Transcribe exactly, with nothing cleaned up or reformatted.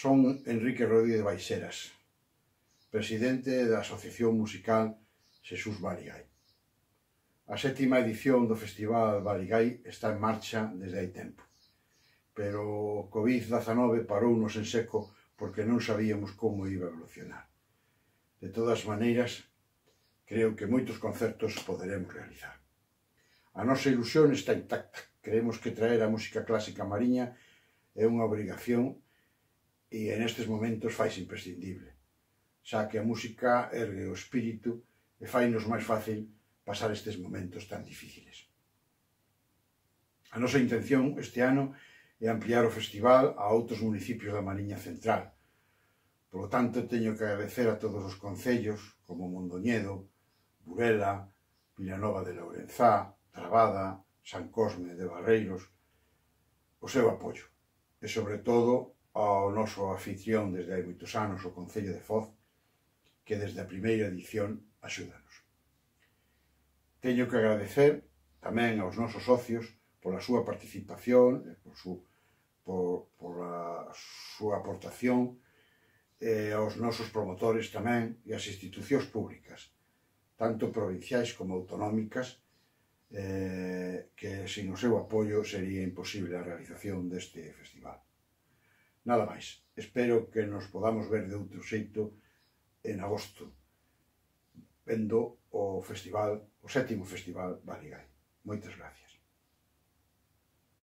Son Enrique Rodríguez Baixeras, presidente da Asociación Musical Xesús Barigái. A sétima edición do Festival Barigái está en marcha desde hai tempo, pero o covid dezanove parounos en seco porque non sabíamos como iba a evolucionar. De todas maneiras, creo que moitos concertos poderemos realizar. A nosa ilusión está intacta. Creemos que traer a música clásica mariña é unha obrigación e en estes momentos faise imprescindible, xa que a música ergue o espírito e fainos máis fácil pasar estes momentos tan difíciles. A nosa intención este ano é ampliar o festival a outros municipios da Mariña Central. Por lo tanto, teño que agradecer a todos os concellos, como Mondoñedo, Burela, Vilanova de Lourenzá, Trabada, San Cosme de Barreiros, o seu apoio. E, sobre todo, ao noso anfitrión desde hai moitos anos, o Concello de Foz, que desde a primeira edición axúdanos. Teño que agradecer tamén aos nosos socios pola súa participación, por, su, por, por a súa aportación, e aos nosos promotores tamén e as institucións públicas, tanto provinciais como autonómicas, eh, que sin o seu apoio sería imposible a realización deste festival. Nada máis. Espero que nos podamos ver de outro xeito en agosto, vendo o festival, o sétimo Festival Barigái. Moitas gracias.